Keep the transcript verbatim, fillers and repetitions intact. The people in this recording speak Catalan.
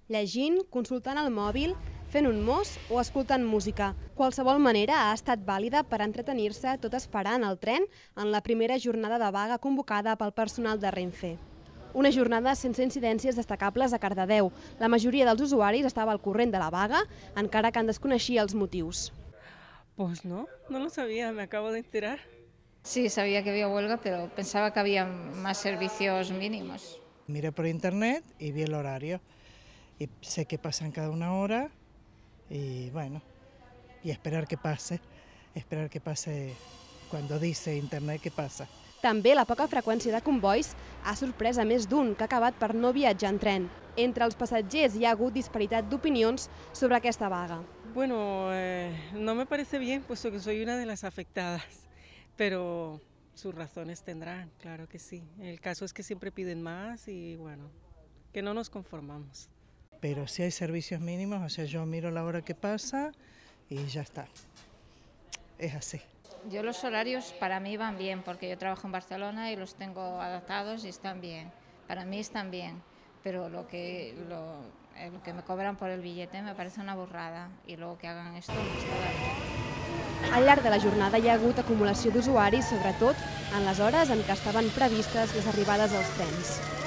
Llegint, consultant el mòbil, fent un mos o escoltant música. Qualsevol manera ha estat vàlida per entretenir-se tot esperant el tren en la primera jornada de vaga convocada pel personal de Renfe. Una jornada sense incidències destacables a Cardedeu. La majoria dels usuaris estava al corrent de la vaga, encara que en desconeixia els motius. Pues no, no lo sabía, me acabo de enterar. Sí, sabía que había huelga, pero pensaba que había más servicios mínimos. Miré por internet y vi el horario. Y sé que pasan cada una hora y bueno, y esperar que pase, esperar que pase cuando dice internet que pasa. També la poca freqüència de convois ha sorprès a més d'un que ha acabat per no viatjar en tren. Entre els passatgers hi ha hagut disparitat d'opinions sobre aquesta vaga. Bueno, eh, no me parece bien, puesto que soy una de las afectadas, pero sus razones tendrán, claro que sí. El caso es que siempre piden más y bueno, que no nos conformamos. Pero si hay servicios mínimos, o sea, yo miro la hora que pasa y ya está. Es así. Yo los horarios para mí van bien, porque yo trabajo en Barcelona y los tengo adaptados y están bien. Para mí están bien, pero lo que, lo, eh, lo que me cobran por el billete me parece una burrada y luego que hagan esto no está bien. Al llarg de la jornada hi ha hagut acumulació d'usuaris, sobretot en les hores en què estaven previstes les arribades als trens.